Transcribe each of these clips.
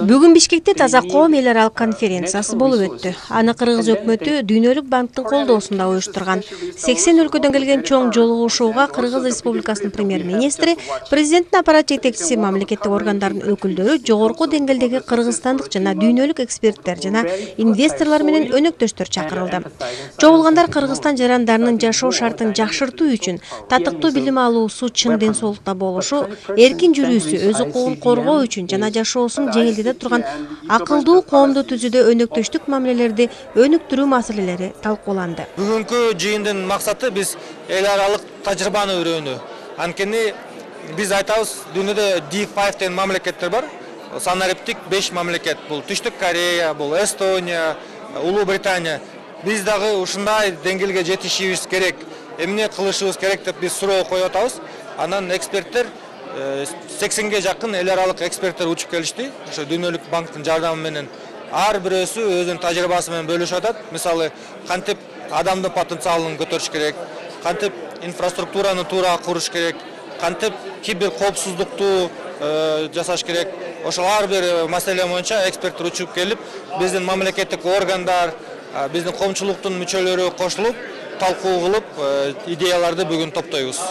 Бүгүн Бишкекте Таза коом эл аралык конференциясы болуп өттү. Аны Кыргыз өкмөтү Дүйнөлүк банктын колдоосунда уюштурган. 80 өлкөдөн келген чоң жолугушууга Кыргыз Республикасынын премьер-министри, президенттин аппарат жетекчиси, мамлекеттик органдардын өкүлдөрү, жогорку деңгээлдеги кыргызстандык жана дүйнөлүк эксперттер жана инвесторлор менен өнөктөштөр чакырылды. Чогулгандар Кыргызстан жарандарынын жашоо шартын жакшыртуу үчүн татыктуу билим алуусу, чың ден соолукта болушу, эркин жүрүүсү, өз укугун коргоо үчүн жана жашоосун жеңилдете турган акылдуу коомду түзүүдө өнөктөштүк мамилелерди өнүктүрүү маселелери талкууланды. Бүгүнкү жыйындын максаты биз эл аралык тажрыйбаны үйрөнүү. Анткени биз айтабыз, дүйнөдө D5 деген мамлекеттер бар. Санариптик 5 мамлекет. Бул Түштүк Корея, бул Эстония, Улуу Британия. Биз дагы ушундай деңгээлге жетишибиз керек. Эмне кылышыбыз керек деп биз суроо коюп атабыз. Анан эксперттер 80ге жакын эл аралык эксперттер учуп келишти. Ошо Дүйнөлүк банктын жардамы менен ар бирөөсү өзүнүн тажрыйбасы менен бөлүшүп атат. Мисалы, кантип адамдын потенциалын көтөрүш керек, кантип инфраструктураны туура куруш керек, кантип кибер коопсуздукту жасаш керек. Ошол ар бир маселе боюнча эксперттер учуп келип, биздин мамлекеттик органдар, биздин коомчулуктун мүчөлөрү кошулуп, талкуу кылып, идеяларды бүгүн топтойбуз.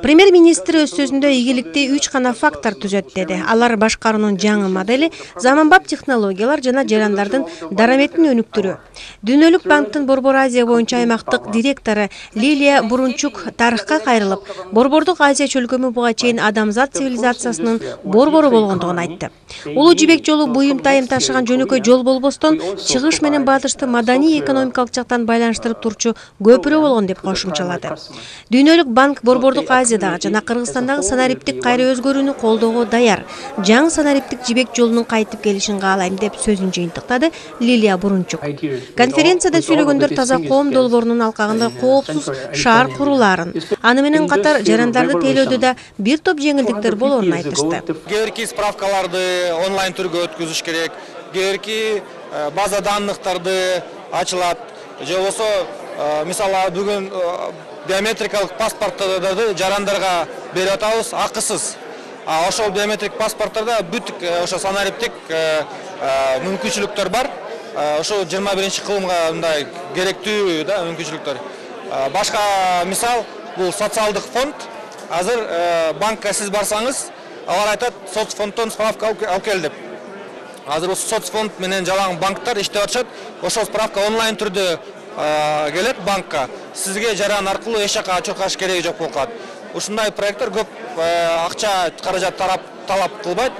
Премьер-министр өз сөзүндө ийгиликти 3 гана фактор түзөт деди. Алар башкаруунун жаңы модели, заманбап технологиялар жана жарандардын дараметин өнүктүрүү. Дүйнөлүк банктын Борбор Азия боюнча аймактык директору Лилия Бурунчук тарыхка кайрылып, Борбордук Азия чөлкөмү буга чейин адамзат цивилизациясынын борбору болгондугун айтты. Улуу жибек жолу буюм-тайым ташыган жөнөкөй жол болбостон, чыгыш менен батышты маданий-экономикалык жактан байланыштырып турчу көпүрө болгон деп кошумчалады. Дүйнөлүк банк Борбордук Азиядагы жана Кыргызстандагы санариптик кайра өзгөрүүнү колдоого даяр. Жаңы санариптик жибек жолунун кайтып келишин каалайм деп сөзүн жыйынтыктады Лилия Бурунчук. Конференцияда сүйлөгөндөр Таза коом долбоорунун алкагында коопсуз шаар курулаарын, аны менен катар жарандарды тейлөөдө да бир топ жеңилдиктер болоорун айтышты. Кээ справкаларды онлайн түргө өткөзүш керек, кээ база данныктарды ачылат, же болбосо мисалы бүгүн биометрикалык паспорттарды жарандарга берип атабыз акысыз. Ошол биометрик паспорттарда бүт ошо санариптик мүмкүнчүлүктөр бар. Ошо 21-кылымга мындай керектүү да мүмкүнчүлүктөр. Башка мисал бул социалдык фонд. Азыр банкка сиз барсаңыз, алар айтат, соцфонддон справка алып кел деп. Азыр соцфонд менен жалаң банктар иштеп атышат. Ошол справка онлайн түрдө келет банкка. Сизге жаран аркылуу эч жака чуркаш кереги жок болуп калат. Ушундай проекттер көп акча каражат талап кылбайт.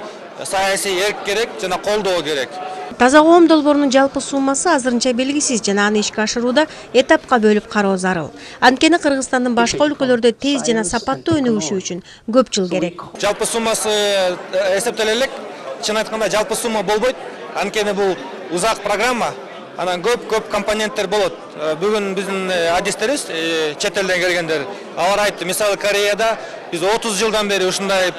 Саясий эрк керек жана колдоо керек. Таза коом долбоорунун жалпы суммасы азырынча белгисиз жана аны ишке ашырууда этапка бөлүп кароо зарыл. Анткени Кыргызстандын башка өлкөлөрдө тез жана сапаттуу өнүгүшү үчүн көп жыл керек. Жалпы суммасы эсептеле элек. Чын айтканда жалпы сумма болбойт. Анткени бул узак программа. Анан көп компоненттер болот. Бүгүн биздин адистерибиз, чет элден келгендер, алар айтты, мисалы Кореяда биз 30 жылдан бери ушундай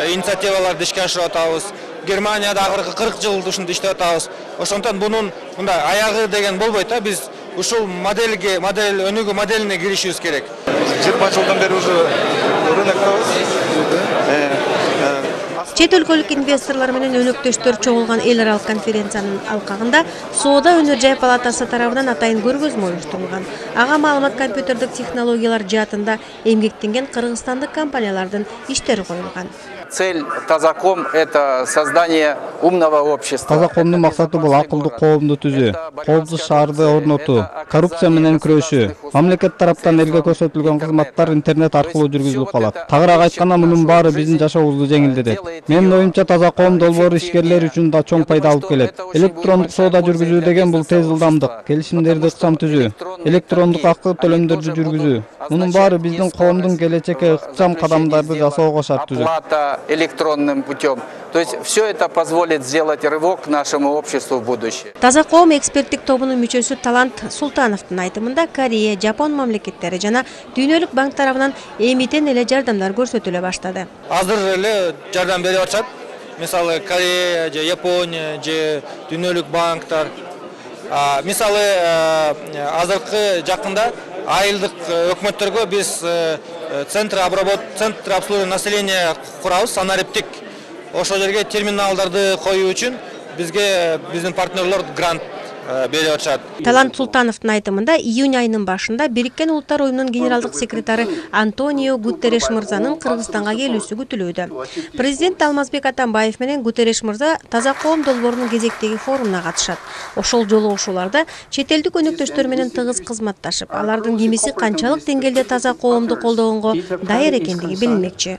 инициативаларды ишке ашырып атабыз. Германияда акыркы 40 жыл ушунда иштеп атабыз. Ошондон бунун мындай аягы деген болбойт да, биз ушул модель өнүгүү моделине киришибиз керек. 20 жылдан бери уже рыноктабыз. Чет өлкөлүк инвесторлор менен өнөктөштөр чогулган эл аралык конференциянын алкагында Соода өнөр жай палатасы тарабынан атайын көргөзмө уюштурулган. Ага маалымат компьютердик технологиялар жаатында эмгектенген кыргызстандык компаниялардын иштери коюлган. Цель Тазаком – это создание умного общества. Тазакомдун максаты бул акылдуу коомду түзүү, коопсуз шаарды орнотуу, коррупция менен күрөшүү. Мамлекет тараптан элге көрсөтүлгөн кызматтар интернет аркылуу жүргүзүлүп калат. Тагыраак айтканда, мунун баары биздин жашообузду жеңилдетет. Менин оюмча, Таза коом долбоору ишкерлер үчүн да чоң пайда алып келет. Электрондук соода жүргүзүү деген бул тез ылдамдык, келишимдерди ыкчам түзүү, электрондук акы төлөмдөрдү жүргүзүү. Мунун баары биздин коомдун келечекке ыкчам кадамдарды жасоого шарт түзөт. Электронным путем. То есть все это позволит сделать рывок к нашему обществу в будущее. Таза коом эксперттик тобунун мүчөсү Талант Султановдун айтымында Корея, Жапон мамлекеттери жана Дүйнөлүк банк тарабынан эмитен эле жардамдар көрсөтүлө баштады. Азыр эле жардам берип атышат. Мисалы Корея, же Япония, же Дүйнөлүк банктар. Мисалы азыркы жакында айылдык өкмөттөргө биз центр обслуживания населения курабыз, санариптик. Ошол жерге терминалдарды коюу үчүн бизге биздин партнерлор грант берип атышат. Талант Султановдун айтымында июнь айынын башында Бириккен Улуттар уюмунун генералдык секретары Антонио Гутерреш мырзанын Кыргызстанга келүүсү күтүлүүдө. Президент Алмазбек Атамбаев менен Гутерреш мырза Таза коом долбоорунун кезектеги форумуна катышат. Ошол жолугушууларда чет элдик өнөктөштөр менен тыгыз кызматташып, алардын кимиси канчалык деңгээлде таза коомду колдогонго даяр экендиги билинмекчи.